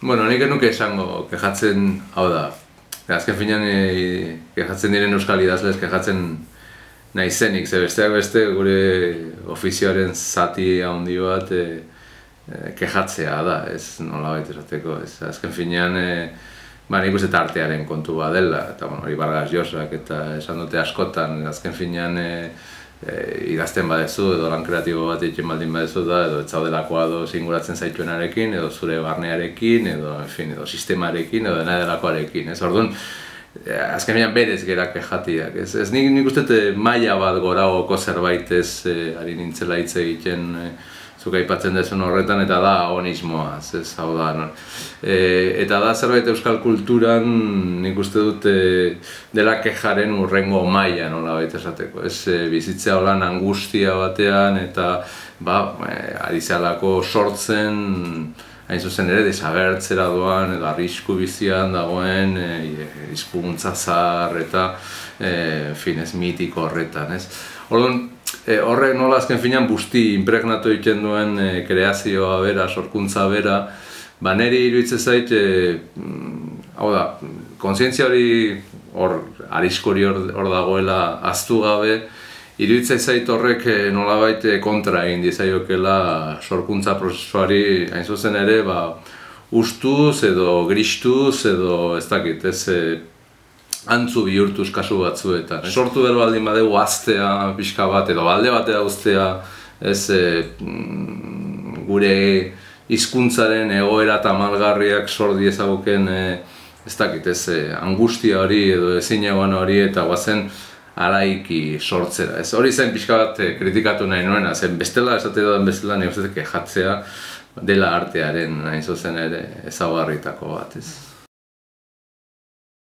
Bueno, nik nuke esango kejatzen, hau da, azken finean kejatzen diren euskal idazlez kejatzen naizenik, ze besteak beste gure ofizioaren zati handi bat kejatzea da, ez nolabait esateko, ez azken finean nik uste artearen kontu bat dela, eta hori Vargas Llosak eta esan dute askotan, azken finean idazten badezu edo lan kreatibo bat egiten baldin badezu da, edo ez zaudelako ados inguratzen zaituenarekin, edo zure barnearekin, edo sistemarekin, edo dena delakoarekin, ez orduan, azken finean berez gera kejatiak, ez nik uste maila bat goragoko zerbait ez ari nintzela hitz egiten zuk aipatzen dezun horretan, eta da onismoaz, ez hau da, eta da zerbait euskal kulturan nik uste dut dela kejaren hurrengo maila nolabait esateko, ez bizitzea holan angustia batean, eta ari zalako sortzen, hain zuzen ere, desagertzera doan, edo arrisku bizian dagoen, hizkuntza zahar, eta ez mitiko horretan, ez. Orduan, horrek nola azken finean busti impregnatu egiten duen kreazioa bera, sorkuntza bera, niri iruditzen zait, hau da, kontzientzia hori arriskori hor dagoela ahaztu gabe, iruditzen zait horrek nolabait kontra egin dizaiokela sorkuntza prozesuari hain zuzen ere, ustuz edo gristuz edo ez dakit, ez antzu bihurtuz kasu batzuetan. Sortu behar baldin badegu aztea pixka bat edo alde batera uztea gure hizkuntzaren egoera tamalgarriak sor diezaguken ez dakit, angustia hori edo ezinegoan hori eta guazen araiki sortzera. Hori zen pixka bat kritikatu nahi nuena, zen bestela esate duen bestela nire uste kejatzea dela artearen hain zuzen ere ezaugarritako bat.